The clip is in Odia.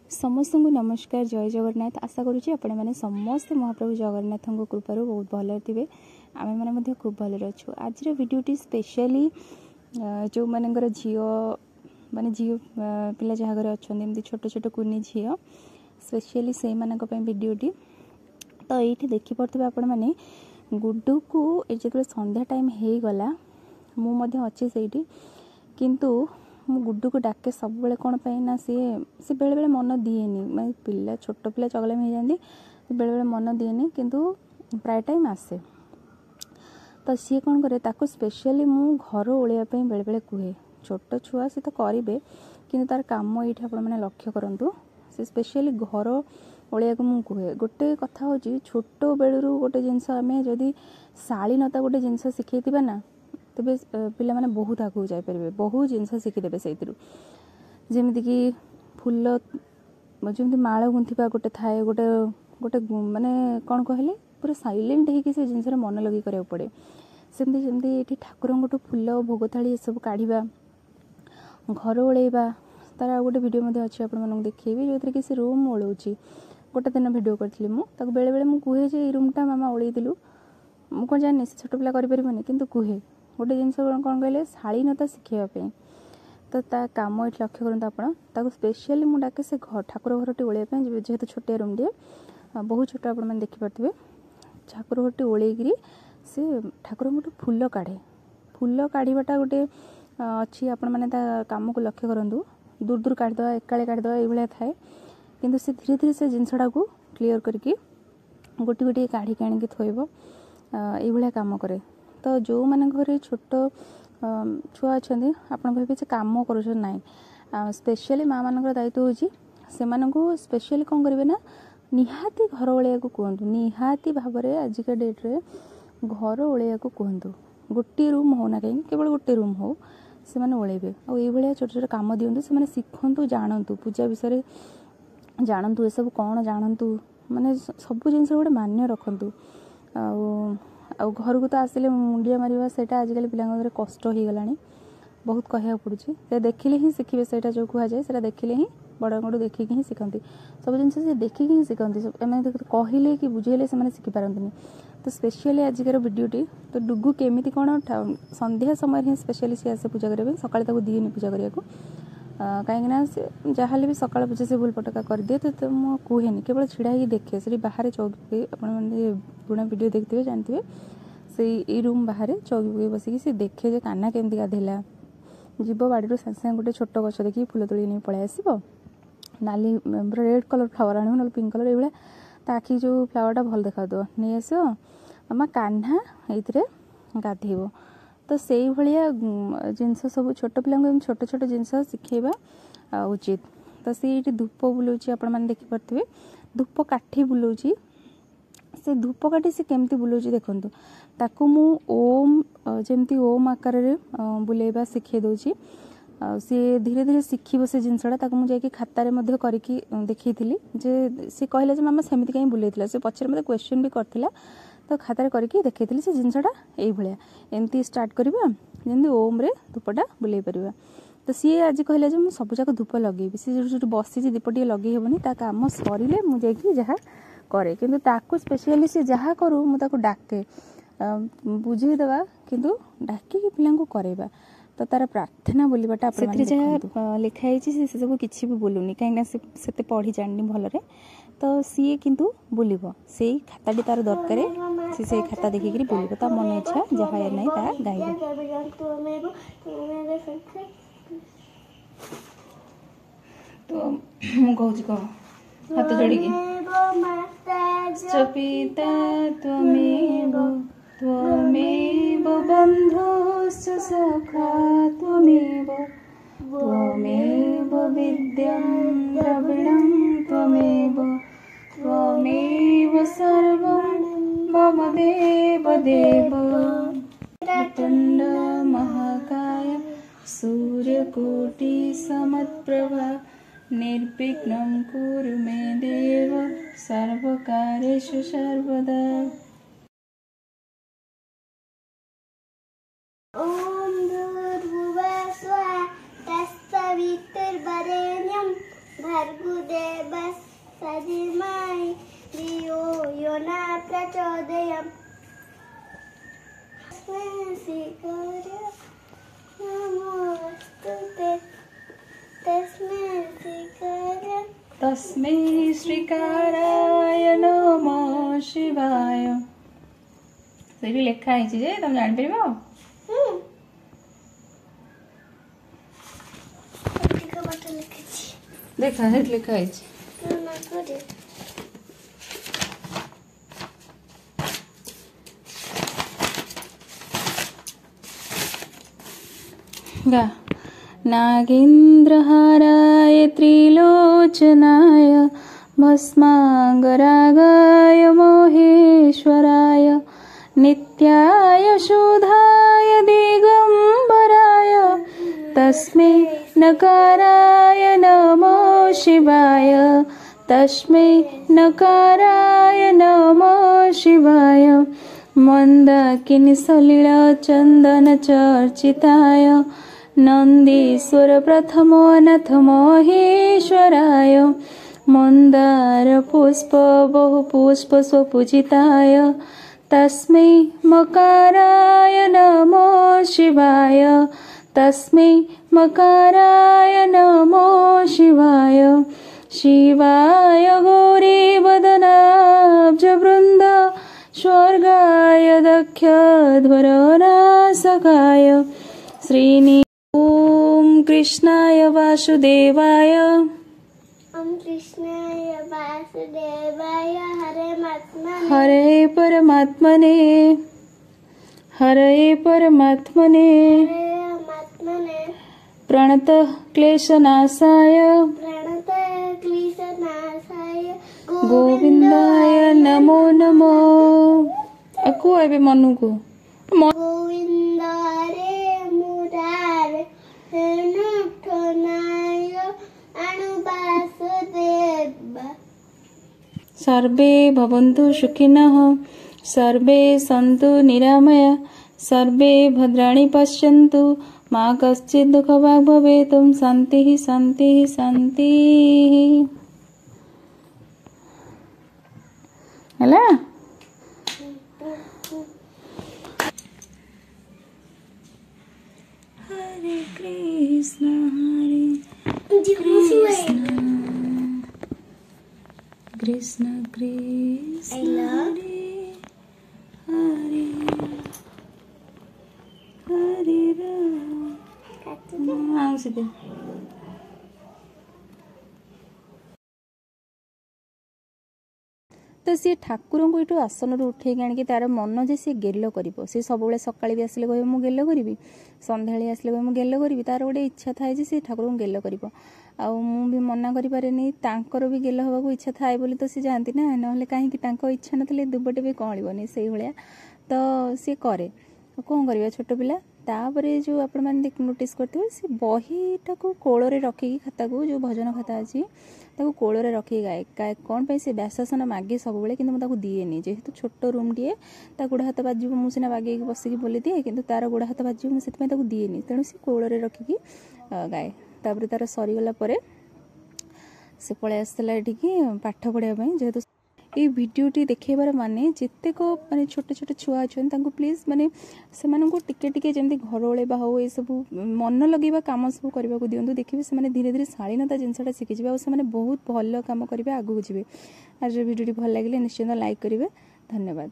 ସମସ୍ତଙ୍କୁ ନମସ୍କାର, ଜୟ ଜଗନ୍ନାଥ। ଆଶା କରୁଛି ଆପଣମାନେ ସମସ୍ତେ ମହାପ୍ରଭୁ ଜଗନ୍ନାଥଙ୍କ କୃପାରୁ ବହୁତ ଭଲରେ ଥିବେ। ଆମେମାନେ ମଧ୍ୟ ଖୁବ୍ ଭଲରେ ଅଛୁ। ଆଜିର ଭିଡ଼ିଓଟି ସ୍ପେଶିଆଲି ଯେଉଁମାନଙ୍କର ଝିଅ ମାନେ ଝିଅ ପିଲା ଯାହା ଘରେ ଅଛନ୍ତି, ଏମିତି ଛୋଟ ଛୋଟ କୁନି ଝିଅ, ସ୍ପେଶିଆଲି ସେଇମାନଙ୍କ ପାଇଁ ଭିଡ଼ିଓଟି। ତ ଏଇଠି ଦେଖିପାରୁଥିବେ ଆପଣମାନେ ଗୁଡୁକୁ ଯେତେବେଳେ ସନ୍ଧ୍ୟା ଟାଇମ୍ ହେଇଗଲା, ମୁଁ ମଧ୍ୟ ଅଛି ସେଇଠି, କିନ୍ତୁ ମୁଁ ଗୁଡୁକୁ ଡାକେ ସବୁବେଳେ। କ'ଣ ପାଇଁ ନା ସିଏ ବେଳେବେଳେ ମନ ଦିଏନି, ମାନେ ପିଲା ଛୋଟ ପିଲା ଚଗଲାମି ହେଇଯାନ୍ତି, ବେଳେବେଳେ ମନ ଦିଏନି, କିନ୍ତୁ ପ୍ରାୟ ଟାଇମ୍ ଆସେ। ତ ସିଏ କ'ଣ କରେ, ତାକୁ ସ୍ପେଶିଆଲି ମୁଁ ଘର ଓଳେଇବା ପାଇଁ ବେଳେବେଳେ କୁହେ। ଛୋଟ ଛୁଆ ସେ ତ କରିବେ, କିନ୍ତୁ ତାର କାମ ଏଇଠି ଆପଣମାନେ ଲକ୍ଷ୍ୟ କରନ୍ତୁ, ସେ ସ୍ପେଶିଆଲି ଘର ଓଳେଇବାକୁ ମୁଁ କୁହେ। ଗୋଟେ କଥା ହେଉଛି, ଛୋଟ ବେଳରୁ ଗୋଟେ ଜିନିଷ ଆମେ ଯଦି ଶାଳୀନତା ଗୋଟେ ଜିନିଷ ଶିଖେଇଥିବା ନା, ତେବେ ପିଲାମାନେ ବହୁତ ଆଗକୁ ଯାଇପାରିବେ, ବହୁତ ଜିନିଷ ଶିଖିଦେବେ ସେଇଥିରୁ। ଯେମିତିକି ଫୁଲ, ଯେମିତି ମାଳ ଗୁନ୍ଥିବା ଗୋଟେ ଥାଏ, ଗୋଟେ ଗୋଟେ ମାନେ କ'ଣ କହିଲେ ପୁରା ସାଇଲେଣ୍ଟ ହେଇକି ସେ ଜିନିଷରେ ମନ ଲଗେଇ କରିବାକୁ ପଡ଼େ। ସେମିତି ଯେମିତି ଏଇଠି ଠାକୁରଙ୍କଠୁ ଫୁଲ, ଭୋଗ ଥାଳି ଏସବୁ କାଢ଼ିବା, ଘର ଓଳେଇବା, ତାର ଆଉ ଗୋଟେ ଭିଡ଼ିଓ ମଧ୍ୟ ଅଛି, ଆପଣମାନଙ୍କୁ ଦେଖେଇବି, ଯେଉଁଥିରେ କି ସେ ରୁମ୍ ଓଳଉଛି। ଗୋଟେ ଦିନ ଭିଡ଼ିଓ କରିଥିଲି ମୁଁ। ତାକୁ ବେଳେବେଳେ ମୁଁ କୁହେ ଯେ ଏଇ ରୁମ୍ଟା ମାମା ଓଳେଇଥିଲୁ। ମୁଁ କ'ଣ ଜାଣିନି ସେ ଛୋଟ ପିଲା କରିପାରିବନି, କିନ୍ତୁ କୁହେ ଗୋଟେ ଜିନିଷ କ'ଣ କହିଲେ ଶାଳୀନତା ଶିଖେଇବା ପାଇଁ। ତ ତା କାମ ଏଇଠି ଲକ୍ଷ୍ୟ କରନ୍ତୁ ଆପଣ। ତାକୁ ସ୍ପେଶିଆଲି ମୁଁ ଡାକେ ସେ ଠାକୁର ଘରଟି ଓଳେଇବା ପାଇଁ, ଯେହେତୁ ଛୋଟିଆ ରୁମ୍ଟିଏ, ବହୁତ ଛୋଟ, ଆପଣମାନେ ଦେଖିପାରୁଥିବେ। ଠାକୁର ଘରଟି ଓଳେଇକିରି ସେ ଠାକୁରଙ୍କଠୁ ଫୁଲ କାଢ଼େ। ଫୁଲ କାଢ଼ିବାଟା ଗୋଟେ ଅଛି, ଆପଣମାନେ ତା କାମକୁ ଲକ୍ଷ୍ୟ କରନ୍ତୁ। ଦୂର ଦୂର କାଢ଼ିଦେବା, ଏକାଳେ କାଢ଼ିଦେବା, ଏଇଭଳିଆ ଥାଏ, କିନ୍ତୁ ସେ ଧୀରେ ଧୀରେ ସେ ଜିନିଷଟାକୁ କ୍ଲିଅର୍ କରିକି ଗୋଟି ଗୋଟିଏ କାଢ଼ିକି ଆଣିକି ଥୋଇବ, ଏଇଭଳିଆ କାମ କରେ। ତ ଯେଉଁମାନଙ୍କ ଘରେ ଛୋଟ ଛୁଆ ଅଛନ୍ତି, ଆପଣ କହିବେ ସେ କାମ କରୁଛନ୍ତି, ନାହିଁ। ସ୍ପେଶିଆଲି ମାଆ ମାନଙ୍କର ଦାୟିତ୍ୱ ହେଉଛି ସେମାନଙ୍କୁ ସ୍ପେଶିଆଲି କ'ଣ କରିବେ ନା ନିହାତି ଘର ଓଳେଇବାକୁ କୁହନ୍ତୁ। ନିହାତି ଭାବରେ ଆଜିକା ଡେଟ୍ରେ ଘର ଓଳେଇବାକୁ କୁହନ୍ତୁ। ଗୋଟିଏ ରୁମ୍ ହେଉ ନା କାହିଁକି, କେବଳ ଗୋଟେ ରୁମ୍ ହେଉ, ସେମାନେ ଓଳେଇବେ। ଆଉ ଏଇଭଳିଆ ଛୋଟ ଛୋଟ କାମ ଦିଅନ୍ତୁ, ସେମାନେ ଶିଖନ୍ତୁ, ଜାଣନ୍ତୁ, ପୂଜା ବିଷୟରେ ଜାଣନ୍ତୁ, ଏସବୁ କ'ଣ ଜାଣନ୍ତୁ, ମାନେ ସବୁ ଜିନିଷ ଗୋଟେ ମାନ୍ୟ ରଖନ୍ତୁ। ଆଉ ଆଉ ଘରକୁ ତ ଆସିଲେ ମୁଣ୍ଡିଆ ମାରିବା, ସେଇଟା ଆଜିକାଲି ପିଲାଙ୍କ ଘରେ କଷ୍ଟ ହେଇଗଲାଣି, ବହୁତ କହିବାକୁ ପଡ଼ୁଛି। ସେ ଦେଖିଲେ ହିଁ ଶିଖିବେ, ସେଇଟା ଯେଉଁ କୁହାଯାଏ ସେଇଟା ଦେଖିଲେ ହିଁ, ବଡ଼ଙ୍କଠୁ ଦେଖିକି ହିଁ ଶିଖନ୍ତି ସବୁ ଜିନିଷ, ସେ ଦେଖିକି ହିଁ ଶିଖନ୍ତି। ଏମାନେ କହିଲେ କି ବୁଝେଇଲେ ସେମାନେ ଶିଖିପାରନ୍ତିନି। ତ ସ୍ପେଶିଆଲି ଆଜିକାର ଭିଡ଼ିଓଟି, ତ ଡୁଗୁ କେମିତି କ'ଣ ସନ୍ଧ୍ୟା ସମୟରେ ହିଁ ସ୍ପେଶିଆଲି ସିଏ ଆସେ ପୂଜା କରିବା ପାଇଁ। ସକାଳେ ତାକୁ ଦିଏନି ପୂଜା କରିବାକୁ, କାହିଁକିନା ସେ ଯାହାହେଲେ ବି ସକାଳ ପୂଜା ସେ ଭୁଲ ପଟକା କରିଦିଏ। ତ ମୁଁ କୁହେନି, କେବଳ ଛିଡ଼ା ହେଇକି ଦେଖେ ସେଠି ବାହାରେ ଚଉକି ପକାଇ। ଆପଣମାନେ ପୁରୁଣା ଭିଡ଼ିଓ ଦେଖିଥିବେ, ଜାଣିଥିବେ, ସେଇ ଏଇ ରୁମ୍ ବାହାରେ ଚଉକି ପକାଇ ବସିକି ସେ ଦେଖେ ଯେ କାହ୍ନା କେମିତି ଗାଧେଇଲା। ଯିବ ବାଡ଼ିରୁ ସାଙ୍ଗେ ସାଙ୍ଗେ ଗୋଟେ ଛୋଟ ଗଛ ଦେଖିକି ଫୁଲ ତୋଳି ନେଇ ପଳେଇ ଆସିବ, ନାଲି ପୁରା ରେଡ଼୍ କଲର୍ ଫ୍ଲାୱାର୍ ଆଣିବ, ନହେଲେ ପିଙ୍କ କଲର୍, ଏଇଭଳିଆ ତା ଆଖି ଯେଉଁ ଫ୍ଲାୱାର୍ଟା ଭଲ ଦେଖାଯାଉଥିବ ନେଇ ଆସିବ, ମାମା କାହ୍ନା ଏଇଥିରେ ଗାଧେଇବ। ତ ସେଇଭଳିଆ ଜିନିଷ ସବୁ ଛୋଟ ପିଲାଙ୍କୁ ଏମିତି ଛୋଟ ଛୋଟ ଜିନିଷ ଶିଖେଇବା ଉଚିତ। ତ ସେ ଏଇଠି ଧୂପ ବୁଲଉଛି, ଆପଣମାନେ ଦେଖିପାରୁଥିବେ, ଧୂପ କାଠି ବୁଲଉଛି। ସେ ଧୂପ କାଠି ସେ କେମିତି ବୁଲଉଛି ଦେଖନ୍ତୁ। ତାକୁ ମୁଁ ଓମ୍, ଯେମିତି ଓମ୍ ଆକାରରେ ବୁଲେଇବା ଶିଖେଇ ଦେଉଛି, ଆଉ ସିଏ ଧୀରେ ଧୀରେ ଶିଖିବ ସେ ଜିନିଷଟା। ତାକୁ ମୁଁ ଯାଇକି ଖାତାରେ ମଧ୍ୟ କରିକି ଦେଖେଇଥିଲି ଯେ ସେ କହିଲା ଯେ ମାମା ସେମିତି କାହିଁ ବୁଲେଇଥିଲା, ସେ ପଛରେ ମୋତେ କ୍ୱେଶ୍ଚନ୍ ବି କରିଥିଲା। ତ ଖାତାରେ କରିକି ଦେଖେଇଥିଲି ସେ ଜିନିଷଟା ଏଇଭଳିଆ ଏମିତି ଷ୍ଟାର୍ଟ କରିବା, ଯେମିତି ଓମ୍ରେ ଧୂପଟା ବୁଲେଇ ପାରିବା। ତ ସିଏ ଆଜି କହିଲା ଯେ ମୁଁ ସବୁଯାକ ଧୂପ ଲଗେଇବି। ସିଏ ଯେଉଁଠି ଯେଉଁଠି ବସିଛି ଦୀପ ଟିକେ ଲଗେଇ ହେବନି, ତା କାମ ସରିଲେ ମୁଁ ଯାଇକି ଯାହା କରେ। କିନ୍ତୁ ତାକୁ ସ୍ପେଶିଆଲି ସେ ଯାହା କରୁ ମୁଁ ତାକୁ ଡାକେ, ବୁଝେଇଦେବା, କିନ୍ତୁ ଡାକିକି ପିଲାଙ୍କୁ କରେଇବା। ତ ତାର ପ୍ରାର୍ଥନା ବୋଲିବାଟା ସେଥିରେ ଯାହା ଲେଖା ହେଇଛି ସେ ସେସବୁ କିଛି ବି ବୋଲୁନି, କାହିଁକିନା ସେ ସେତେ ପଢ଼ି ଜାଣିନି ଭଲରେ। ତ ସିଏ କିନ୍ତୁ ବୁଲିବ, ସେଇ ଖାତାଟି ତାର ଦରକାର, ସେ ସେଇ ଖାତା ଦେଖିକିରି ବୁଲିବ, ତା ମନ ଇଚ୍ଛା ଯାହା ନାହିଁ ତାହା ଗାଇବ। ତ ମୁଁ କହୁଛି କହ ହାତ ଯୋଡ଼ିକି, ପିତା ତ୍ୱମେବ ତ୍ୱମେବ ବନ୍ଧୁଶ୍ଚ ସଖା ତ୍ୱମେବ ତ୍ୱମେବ ବିଦ୍ୟं ଦ୍ରବିଣं ତ୍ୱମେବ ତ୍ୱମେବ ସର୍ବं ମମ ଦେବ ଦେବ। ପ୍ରଚଣ୍ଡ ମହାକାୟ ସୂର୍ଯ୍ୟକୋଟି ସମପ୍ରଭା ନିର୍ବିଘ୍नं କୁରୁ ମେ ଦେବ ସର୍ବକାର୍ୟେଷୁ ସର୍ବଦା। ॐ भूर्भुवः स्वः तत्सवितुर्वरेण्यं भर्गो भूर्देवस्य धीमहि धियो यो न प्रचोदयात्। तस्मै श्री गुरवे नमोऽस्तु। तस्मै श्री गुरवे तस्मै श्रीकाराय नमः शिवाय। ସେଇଠି ଲେଖା ହେଇଛି ଯେ ତମେ ଜାଣିପାରିବ? ଦେଖ ସେଠି ଲେଖା ହେଇଛି। गा। नागेन्द्रहाराय त्रिलोचनाय भस्माङ्गरागाय महेश्वराय नित्याय शुद्धाय दिगम्बराय तस्मै नकाराय नमः शिवाय। तस्मै नकाराय नमः शिवाय। मन्दाकिनी सलिल चन्दन चर्चिताय नन्दीश्वर प्रथमो नाथ महेश्वराय मन्दार पुष्प बहुपुष्प स्वपूजिताय तस्मै मकाराय नमः शिवाय। तस्मै मकाराय नमः शिवाय। शिवाय गौरी वदनाब्जवृन्द स्वर्गाय दक्षध्वरनाशकाय श्रीनि। ॐ कृष्णाय वासुदेवाय। ॐ कृष्णाय वासुदेवाय हरे महात्मने हरे परमात्मने हरे परमात्मने प्रणतः क्लेशनाशाय प्रणतः क्लेशनाशाय गोविंदाय नमो नमो। আকু এবে মনুকু গোবিন্দ রে মুরার নায় আনুবাসুদেব। सर्वे भवन्तु सुखिनः सर्वे सन्तु निरामया सर्वे भद्राणि पश्यन्तु मा कश्चित् दुःखभाग् भवेत्। ॐ शान्तिः शान्तिः शान्तिः। ହେଲା। हरे कृष्ण हरे कृष्ण कृष्ण कृष्ण हरे हरे हरे राम। सीधे ତ ସିଏ ଠାକୁରଙ୍କୁ ଏଠୁ ଆସନରୁ ଉଠେଇକି ଆଣିକି ତାର ମନ ଯେ ସିଏ ଗେଲ କରିବ। ସେ ସବୁବେଳେ ସକାଳେ ବି ଆସିଲେ କହିବ ମୁଁ ଗେଲ କରିବି, ସନ୍ଧ୍ୟାବେଳେ ଆସିଲେ କହିବ ମୁଁ ଗେଲ କରିବି। ତାର ଗୋଟେ ଇଚ୍ଛା ଥାଏ ଯେ ସେ ଠାକୁରଙ୍କୁ ଗେଲ କରିବ। ଆଉ ମୁଁ ବି ମନା କରିପାରେନି, ତାଙ୍କର ବି ଗେଲ ହେବାକୁ ଇଚ୍ଛା ଥାଏ ବୋଲି ତ ସେ ଯାଆନ୍ତି ନା, ନହେଲେ କାହିଁକି ତାଙ୍କ ଇଚ୍ଛା ନଥିଲେ ଦୁବଟେ ବି କଅଁଳିବନି ସେଇଭଳିଆ ତ ସିଏ କରେ। କ'ଣ କରିବା ଛୋଟ ପିଲା। ତାପରେ ଯେଉଁ ଆପଣମାନେ ନୋଟିସ୍ କରିଥିବେ ସେ ବହିଟାକୁ କୋଳରେ ରଖିକି ଖାତାକୁ, ଯେଉଁ ଭଜନ ଖାତା ଅଛି ତାକୁ କୋଳରେ ରଖିକି ଗାଏ। କ'ଣ ପାଇଁ ସେ ବ୍ୟାସାସନ ମାଗେ ସବୁବେଳେ, କିନ୍ତୁ ମୁଁ ତାକୁ ଦିଏନି। ଯେହେତୁ ଛୋଟ ରୁମ୍ଟିଏ, ତା ଗୋଡ଼ ହାତ ବାଜିବ, ମୁଁ ସିନା ବାଗେଇକି ବସିକି ବୋଲିଦିଏ, କିନ୍ତୁ ତାର ଗୋଡ଼ ହାତ ବାଜିବ, ମୁଁ ସେଥିପାଇଁ ତାକୁ ଦିଏନି। ତେଣୁ ସେ କୋଳରେ ରଖିକି ଗାଏ। ତାପରେ ତାର ସରିଗଲା ପରେ ସେ ପଳେଇ ଆସିଥିଲା ଏଠିକି ପାଠ ପଢ଼ିବା ପାଇଁ। ଯେହେତୁ ଏଇ ଭିଡ଼ିଓଟି ଦେଖେଇବାର ମାନେ ଯେତେକ ମାନେ ଛୋଟ ଛୋଟ ଛୁଆ ଅଛନ୍ତି ତାଙ୍କୁ ପ୍ଲିଜ୍ ମାନେ ସେମାନଙ୍କୁ ଟିକେ ଟିକେ ଯେମିତି ଘର ଓଳେଇବା ହଉ ଏସବୁ ମନ ଲଗେଇବା କାମ ସବୁ କରିବାକୁ ଦିଅନ୍ତୁ। ଦେଖିବେ ସେମାନେ ଧୀରେ ଧୀରେ ଶାଳୀନତା ଜିନିଷଟା ଶିଖିଯିବେ ଆଉ ସେମାନେ ବହୁତ ଭଲ କାମ କରିବେ, ଆଗକୁ ଯିବେ। ଆଜିର ଭିଡ଼ିଓଟି ଭଲ ଲାଗିଲେ ନିଶ୍ଚିନ୍ତ ଲାଇକ୍ କରିବେ। ଧନ୍ୟବାଦ।